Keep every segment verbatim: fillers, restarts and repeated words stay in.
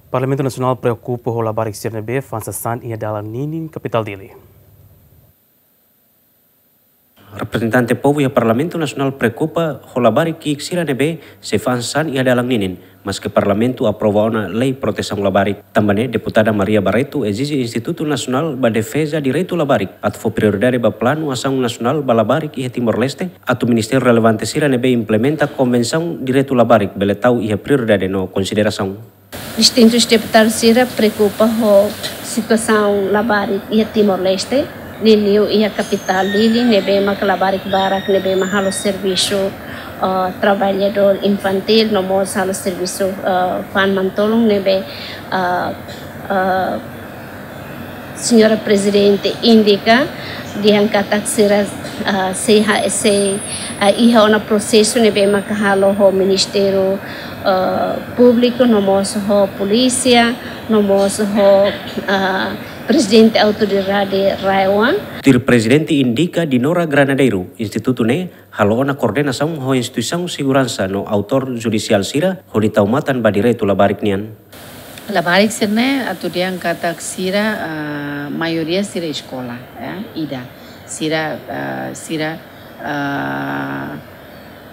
Parlamentu Nasionál preokupa ho labarik sira ne'ebé fa'an sasán iha dalan ninin kapitál Dili. Reprezentante povu iha Parlamentu Nasionál preokupa ho labarik ki'ik sira ne'ebé sei fa'an sasán iha dalan ninin, maske Parlamentu aprova ona lei protesaun labarik. Tanba ne'e, Deputada Maria Barreto ezije Institutu Nasionál ba Defeza Direitu Labarik atu fó prioridade ba planu asaun nasionál ba labarik iha Timor-Leste, atu ministériu relevante sira ne'ebé implementa Konvensaun Direitu Labarik bele tau iha prioridade no konsiderasaun. Distintus deputadu sira preokupa ho situasaun labarik iha Timor-Leste, liuliu iha kapitál Dili, ne'ebé maka labarik barak ne'ebé mak halo servisu, eh, traballadór infantíl, no mós halo servisu, eh, fa'an mantolun ne'ebé, eh, eh, Señora Prezidente indika dehan katak sira, ah, sei ha-, sei, ah, iha ona prosesu ne'ebé maka halo ho Ministériu, ah, Públiku, no mós ho polísia, no mós ho, ah, Prezidente Autoridade RAEOA. Tuir Prezidente indika Dinora Granadeiro, institutu ne'e halo ona koordenasaun ho instituisaun seguransa no autór judisiál sira hodi tau matan ba direitu labarik nian. Labarik sira-ne'e atu dehan katak sira, ah, maioria sira eskola, ya, ida. Sira, ah, sira, ah,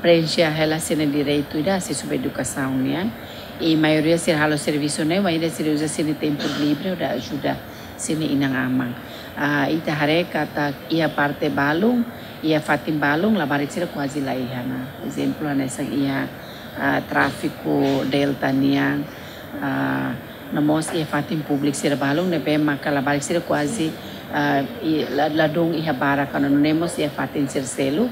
preenxe hela sira-nia direitu ida, asesu ba edukasaun nian. I maioria sira halo servisu ne'e, maioria sira uza sira-nia tempu livre hodi ajuda sira-nia inan-aman. Ah, ita haree katak iha parte balun, iha fatin balun, labarik sira kuaze la iha ona. Ezemplu, hanesan iha, ah, tráfiku Delta nian, ah, no mós iha fatin públiku sira balun, ne'ebé maka labarik sira kuaze, ah, i la, ladún iha barak ona, nune'e mós iha fatin sira seluk,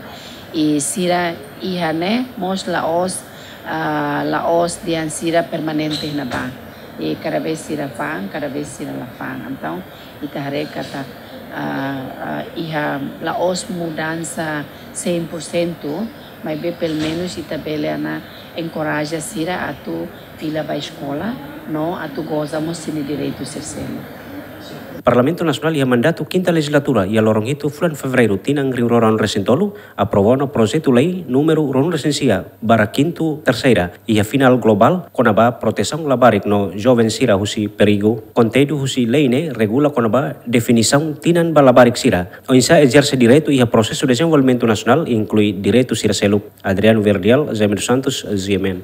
i sira iha ne'e mós la'ós, ah, la'ós dehan sira permanente iha ne'ebá. I kada vez sira fa'an, kada vez sira la fa'an. Entaun, ita haree katak, ah, ah, iha la'ós mudansa cem por cento, maibé pelumenus ita bele ona enkoraja sira atu fila ba eskola, no atu goza mós sira-nia direitu sira seluk. Parlamentu Nasionál iha mandatu kinta lejizlatura iha loron hitu fulan Fevereiru tinan rihun rua ruanulu resin tolu aprova ona projetu lei númeru ruanulu resin sia barra kinta terseira iha final globál kona-ba protesaun labarik no joven sira husi perigu. Konteúdu husi lei ne'e regula kona-ba definisaun tinan ba labarik sira, oinsá ezerse direitu iha prosesu dezenvolvimentu nasionál, inklui direitu sira seluk. Adriano Verdial, Zé Mendes Santos, G M N.